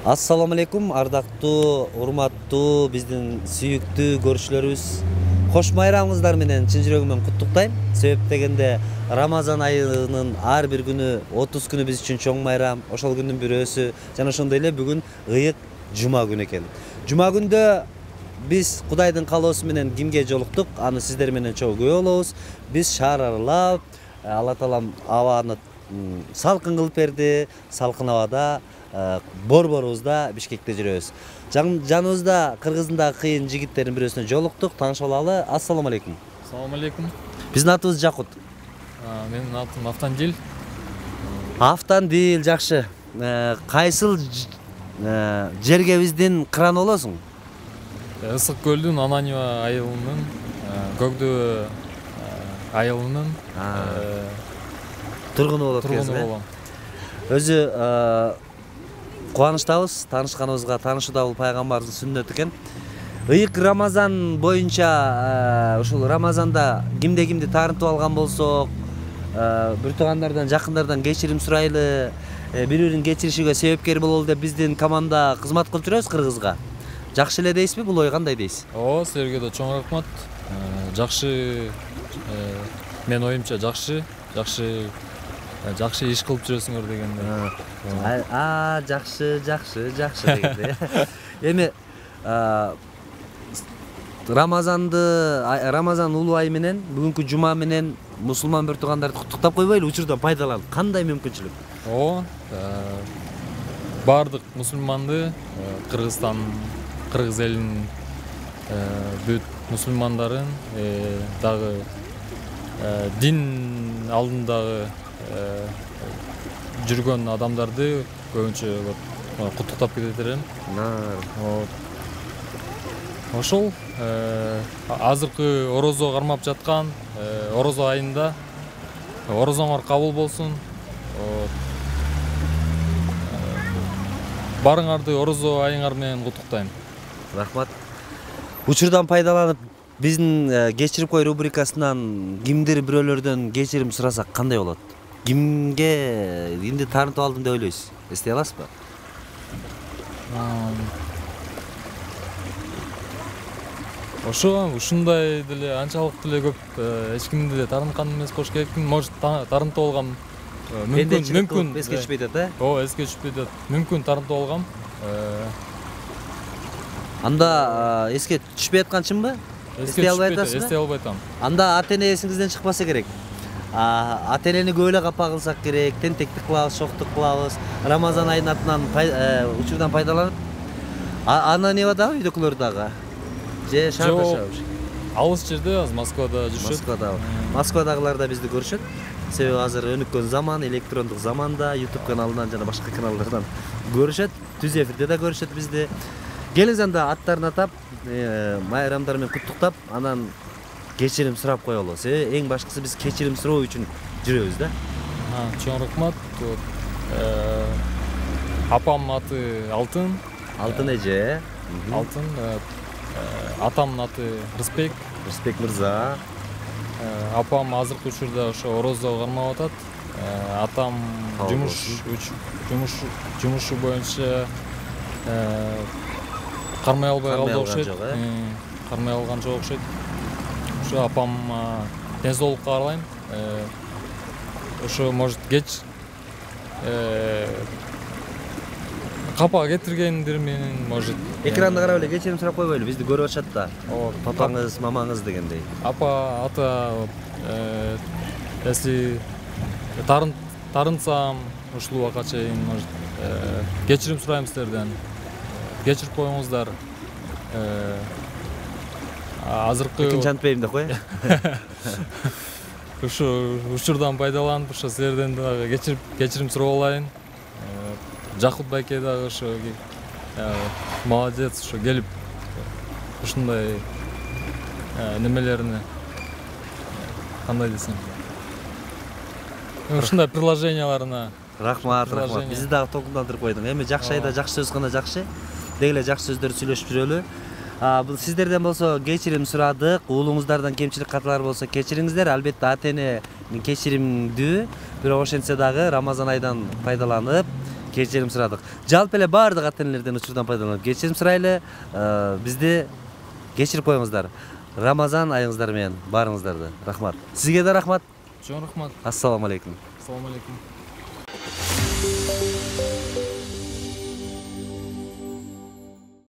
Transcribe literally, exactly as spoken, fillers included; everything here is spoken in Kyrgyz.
Ассаламу алейкум, ардактуу, урматтуу биздин сүйүктүү көрүүчүлөрүбүз. Кош майрамыңыздар менен чын жүрөгүмөн куттуктайм. Себеп дегенде Рамазан айынын ар бир күнү, отуз күнү биз үчүн чоң майрам. Ошол күндүн бирөөсү жана ошондой эле бүгүн ыйык жума күнү экен. Жума күндө биз Кудайдын каалоосу менен кимге жолуктук? Аны сиздер менен чогуу көрө болобуз. Биз шаар аралап, Алла таалам абаны салкын кылып берди. Салкын абада борборубузда Бишкекте жүрөбүз. Жаныбызда Кыргыздын дагы кыйын жигиттердин бирөөсүнө жолуктук. Тааныша алалы. Ассаламу алейкум. Ассаламу алейкум. Биздин атыбыз Жакут. Менин атым Автандил. Автандил, жакшы. Кайсыл жерге биздин кыраны болосуң? Ысык көлдүн Ананьева айылынын, Көкдөө айылынын тургуну болот тургуну болом. Өзү кубанычтабыз, таанышканыбызга. Таанышуу бул пайгамбардын сүннөтү экен. Ыйык Рамазан боюнча ушул Рамазанда кимде кимди таарынтып алган болсок, бир туугандардан, жакындардан кечирим сурайлы, бири-бирин кечиришиге себепкер бололу деп биздин команда кызмат кылып жүрөбүз Кыргызга. Жакшы эле дейсизби? Бул ой кандай дейсиз? Ооба, силерге да чоң рахмат. Жакшы, мен оюмча жакшы, жакшы жакшы иш кылып жүрөсүңөр дегенде. А, жакшы, жакшы, жакшы дегенде. Эми Рамазанды, Рамазан улуу ай менен, бүгүнкү жума менен мусулман бир туугандарды куттуктап койбойлу, учурдан пайдаланып. Кандай мүмкүнчүлүк? Ооба, баардык мусулманды, Кыргызстан, Кыргыз элинин бүт мусулмандарын, дагы дин алдындагы жүргөн адамдарды көбүнчө куттуктап кетет элем. Ошол азыркы орозо кармап жаткан орозо айында орозоңор кабыл болсун. Барыңарды орозо айыңар менен куттуктайм. Рахмат. Учурдан пайдаланып биздин кечирип кой рубрикасынан кимдир бирөөлөрдөн кечирим сурасак кандай болот? Кимге, кимди таарынтып алдым деп ойлойсуз? Эстей аласызбы? Ошо ушундай деле анчалык деле көп эч кимди деле таарынткан эмес болуш керекмин. Может, таарынтып алгам. Мүмкүн, мүмкүн эске түшпөй атат, э? Ооба, эске түшпөй атат. Мүмкүн таарынтып алгам. Анда эске түшпөй атканчымбы? Эсте албай атасызбы? Эсте албай атам. Анда ата-эне эсиңизден чыкпаса керек. Ата-энени көп эле капа кылсак керек, тентектик кылабыз, шоктук кылабыз. Рамазан айынын атынан учурдан пайдаланып. Ана эмне дагы үйдөкүлөр дагы? Же шаарда жашабыз? Алыс жерде, азыр Москвада жүрүшөт. Москвада. Москвадагылар да бизди көрүшөт. Себеби азыр өнүккөн заман, электрондук заманда YouTube каналынан жана башка каналдардан көрүшөт. Түз эфирде да көрүшөт бизди. Келиңиз анда аттарын атап, майрамдар менен куттуктап, анан кечирим сурап коелу. Эң башкысы биз кечирим суроо үчүн жүрөбүз да. Чоң рахмат. Апам аты Алтын. Алтын эже. Алтын. Атамдын аты Рыспек. Рыспек мырза. Апам азыркы учурда ошо орозо кармап атат. Атам жумуш жумуш жумушу боюнча кармай албай калды окшойт. Кармай алган жок окшойт. Ошо апам ден соолукка каалайм. Ошо может кеч капа кетиргендир менен, может. Экранды карап эле кечирим сурап койбойлу, бизди көрүп атышат да. Папаңыз, мамаңыз дегендей. Апа, ата, если тарынсам ушул убакка чейин, может, кечирим сурайм силерден. Кечирип коюңуздар. Азыркы экинчи антпейм деп кой. Ушу учурдан пайдаланып, ошо силерден дагы кечирип, кечирим сурап алайын. Жакут байке дагы ошо молодец, ошо келип ушундай немелерини кандай десем, ушундай приложенияларына рахмат, рахмат. Бизди дагы толкундандырып койдуң. Эми жакшы айда жакшы сөз гана жакшы. Деги эле жакшы сөздөр сүйлөшүп жүрөлү. Бул сиздерден болсо кечирим сурадык, уулуңуздардан кемчилик каталар болсо кечириңиздер. Албетте ата-эне кечиримдүү, бирок ошентсе дагы Рамазан айдан пайдаланып, кечирим сурадык. Жалпы эле баардык ата энелерден учурдан пайдаланып кечирим сурайлы. Бизди кечирип коюңуздар. Рамазан айыңыздар менен баарыңыздарды. Рахмат. Сизге да рахмат. Чоң рахмат. Ассаламу алейкум. Ассаламу алейкум.